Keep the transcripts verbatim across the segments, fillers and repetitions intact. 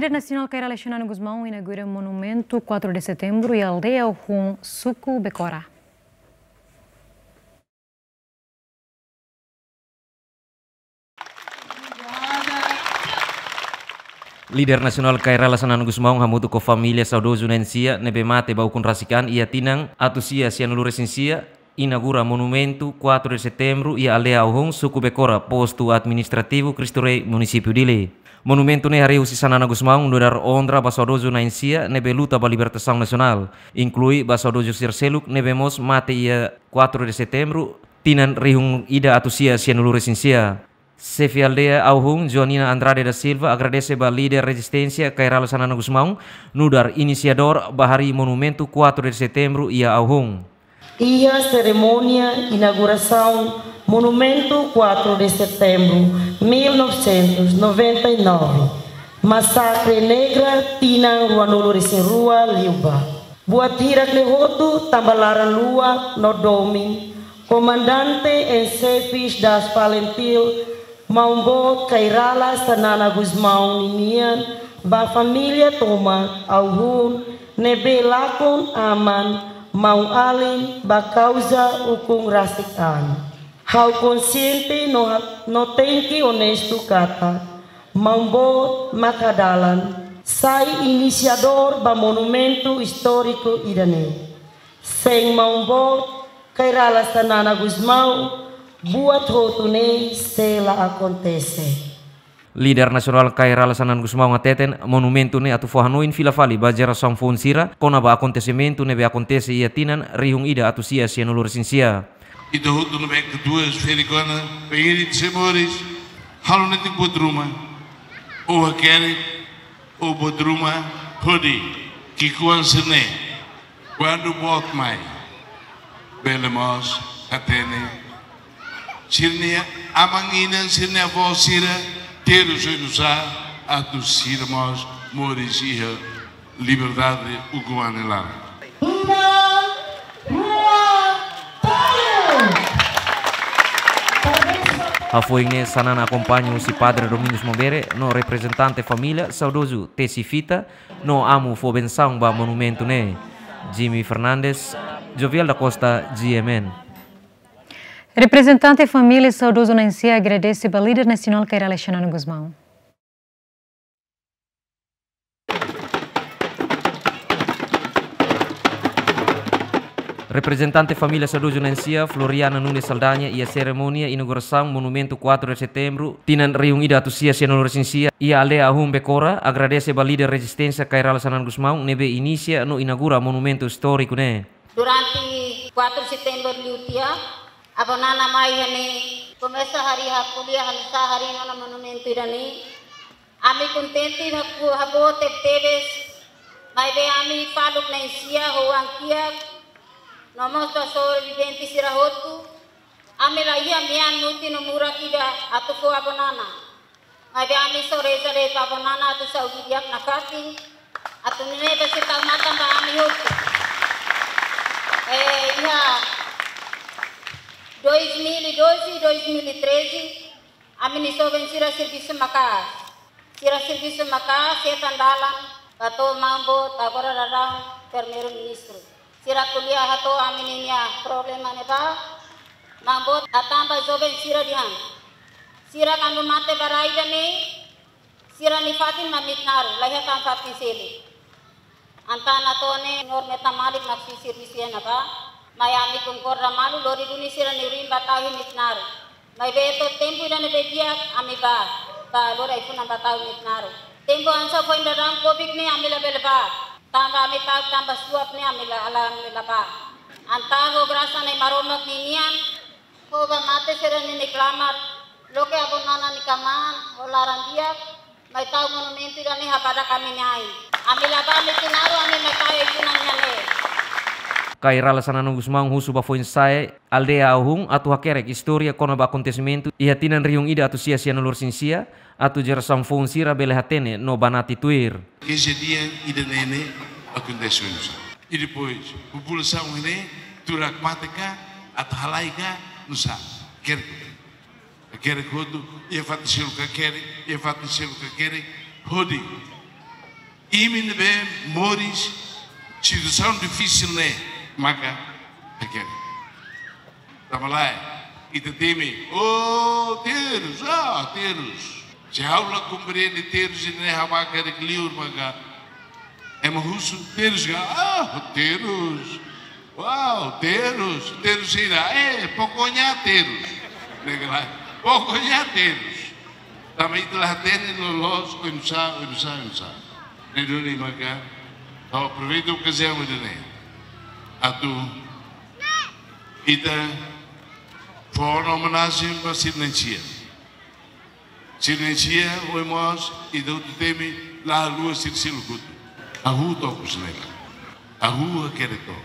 Líder nasionál Kay Rala Xanana Gusmão inaugura monumentu quatro de setembro iha aldeia Uhun, suku Becora. Líder nasionál Kay Rala Xanana Gusmão hamutuk ho família saudozu na'in-sia ne'ebé mate ba ukun rasik an iha tinan atus sia sianulu-resin-sia, inaugura monumentu quatro de setembro iha aldeia Uhun, suku Becora, postu administrativu Cristo Rei, munisípiu Dili. Monumentu ne'e harii husi Xanana Gusmão nu'udar onra ba saudozu na'in-sia ne'ebé luta ba libertasaun nasionál, inklui ba saudozu sira seluk ne'ebé mós mate iha quatro de setembro, tinan rihun ida atus sia sianulu-resin-sia. Xefe aldeia Uhun, Joanina Andrade da Silva, agradese ba líder rezisténsia Kay Rala Xanana Gusmão nu'udar inisiadór ba harii monumentu quatro de setembro iha Uhun. Iha serimónia inaugurasaun Monumentu quatro de Setembro mil novecentos e noventa e nove, Masakre Negra tinan ruanulu-resin-rua liubá. Buat hirak-ne'e hotu tanba laran-luak no domin Comandante em Chefes das FALINTIL, Maun Boot Kay Rala Xanana Gusmão ninian, ba família tomak Uhun ne'ebé lakon aman, maun-alin ba kauza ukun rasik an. Ha'u konsiente no ha-, no tenke onestu katak Maun Boot mak hadalan sai inisiadór ba monumentu istóriku ida-ne'e. Sein Maun Boot Kay Rala Xanana Gusmão, buat hotu ne'e sei la akontese. Líder nasionál Kay Rala Xanana Gusmão hateten, monumentu ne'e atu fó hanoin fila fali ba jerasaun foun sira kona-ba akontesimentu ne'ebé akontese iha tinan rihun ida atus sia sianulu-resin-sia. Ita hotu ne'ebé katuas ferik ona, pengirit se moris, halo netik buat ruma, ou hakerek, ou buat ruma, hodi ki'ikoan sira-ne'e, kuandu boot mai, bele mós hatene sira-nia aman-inan, sira-nia avó sira terus oinsá atu sira mós moris iha liberdade ukun an nia laran. Hafoin ne'e Xanana akompaña husi Padre Domingos Mabere no reprezentante família saudozu tesi fita no amu fó bensaun ba monumentu ne'e. Jimmy Fernandes, Jovial da Costa, G M N. Reprezentante família saudozu na'in-sia agradese ba líder nasionál Kay Rala Xanana Gusmão. Reprezentante família saudozu na'in-sia, Floriana Nunes Saldanha, iha serimónia inaugurasaun Monumentu quatro de Setembro, tinan rihun ida atus sia sianulu-resin-sia, iha aldeia Uhun Becora, agradese ba líder rezisténsia Kay Rala Xanana Gusmão, ne'ebé inisia no inaugura monumentu istóriku ne'e. Durante quatro de setembro liu tiha, avó Nana mai iha ne'e, komesa harii, ko'alia hanesan harii ona monumentu ida-ne'e. Ami kontente, haku, haboot tebetebes, maibé ami faluk na'in-sia ho oan kiak, no mós ba sobrevivente sira hotu, ami la iha mean mutin no murak ida atu fó avó Nana. Maibé ami só reza de'it ba avó Nana atu saúde di'ak nafatin, atu nune'e bele tau matan ba ami hotu. Eh, iha dois mil e doze, dois mil e treze, ami-nia joven sira servisu maka'as. Sira servisu maka'as, hetan dalan ba to'o Maun Boot, agora daudaun Primeiru-Ministru. Sira ko'alia hato'o ami-nia problema ne'ebá, Maun Boot hatán ba joven sira dehan, sira kuandu mate ba rai ida-ne'e, sira-nia fatin mak Mitnaru, la iha tan fatin seluk. Entaun atu nune'e, Señór Metan Malik mak sei servisu iha ne'ebá, mai ami konkorda malu, lori duni sira-nia oin ba tau iha Mitnaru. Maibé to'o tempu ida ne'ebé di'ak ami bá, bá lori ai-funan ba tau Mitnaru. Tempu hanesan foin daudaun Covid ne'e ami labele bá, tanba ami ta'uk tanba suap ne'e ami la, la, ami la bá. Entaun ho grasa Nai Maromak ninian, ho ba mate sira-nia klamar, loke avó Nana nia kmaan ho laran di'ak, mai tau monumentu ida-ne'e habadak ami-nia ain. Ami la bá Mitnaru, ami mai tau ai-funan iha ne'e. Kay Rala Xanana Gusmão husu ba foin-sa'e aldeia Uhun atu hakerek istória kona-ba akontesimentu iha tinan rihun ida atus sia sianulu-resin-sia, atu jerasaun foun sira bele hatene no banati tuir. Kejadian ida-ne'e ne'e akontese oinsá. I depois, populasaun ne'e, turak mate ka, atu halai ka, nusá. Hakerek. Hakerek hotu, iha fatin seluk hakerek, iha fatin seluk hakerek, hodi Imi ne'ebé moris situasaun difisil ne'e maka hakerek. Tanba lae, ita temi, oh, terus, ah, terus. Se ha'u la komprende terus ida-ne'e, ha'u bá hakerek liur maka ema husu terus ka, ah, terus. Wow, terus, terus ida, eh, pokoknya terus. Ne'e ka lae, pokoknya terus. Tanba ita la hatene loloos oinsá, oinsá, oinsá. Ne'e duni maka, ha'u aproveita okaziaun ida-ne'e atu ita fó ona omenajen ba sira na'in-sia. Sira na'in-sia, ohin mós, ita hotu temi, la haluha sira seluk hotu. Hahú to'o ikus ne'e. Hahú hakerek to'o.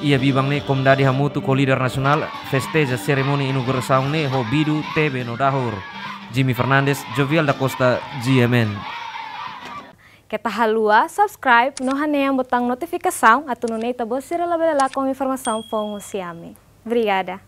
Iha biban ne'e, komunidade hamutuk ho líder nasionál festeja serimónia inaugurasaun ne'e ho bidu, tebe no dahur. Jimmy Fernandes, Jovial da Costa, G M N. Keta haluha subscribe no hanehan butaun notifikasaun atu nune'e ita-boot sira labele lakon informasaun foun husi ami. Obrigada.